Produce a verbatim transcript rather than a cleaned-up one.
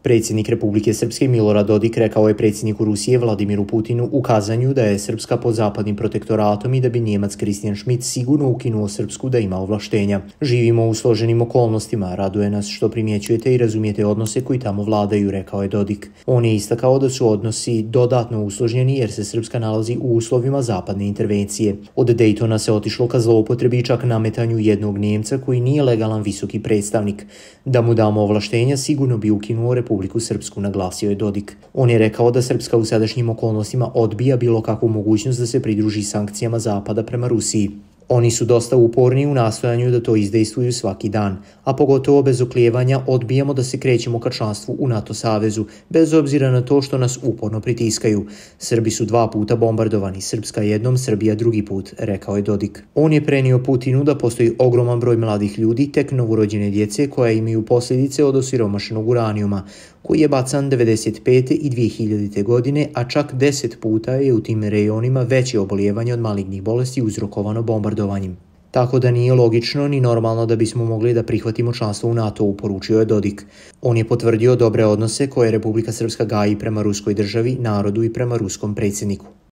Predsjednik Republike Srpske Milorad Dodik rekao je predsjedniku Rusije Vladimiru Putinu u kazanju da je Srpska pod zapadnim protektoratom i da bi Njemac Christian Schmidt sigurno ukinuo Srpsku da ima ovlaštenja. Živimo u složenim okolnostima, raduje nas što primjećujete i razumijete odnose koji tamo vladaju, rekao je Dodik. On je istakao da su odnosi dodatno usložnjeni jer se Srpska nalazi u uslovima zapadne intervencije. Od Dejtona se otišlo ka zloupotrebi čak nametanju jednog Njemca koji nije legalan visoki predstavnik. Da mu damo ovlaštenja sigurno bi ukinuo Republiku Srpsku, naglasio je Dodik. On je rekao da Srpska u sadašnjim okolnostima odbija bilo kakvu mogućnost da se pridruži sankcijama Zapada prema Rusiji. Oni su dosta uporni u nastojanju da to izdejstvuju svaki dan, a pogotovo bez oklijevanja odbijamo da se krećemo ka članstvu u NATO savezu, bez obzira na to što nas uporno pritiskaju. Srbi su dva puta bombardovani, Srpska jednom, Srbija drugi put, rekao je Dodik. On je prenio Putinu da postoji ogroman broj mladih ljudi, tek novorođene djece koja imaju posljedice od osiromašenog uranijuma, koji je bacan devedeset pete i dvije hiljadite. godine, a čak deset puta je u tim rejonima veće obolijevanje od malignih bolesti uzrokovano bombardovanjem. Tako da nije logično ni normalno da bismo mogli da prihvatimo članstvo u NATO, poručio je Dodik. On je potvrdio dobre odnose koje Republika Srpska gaji prema ruskoj državi, narodu i prema ruskom predsjedniku.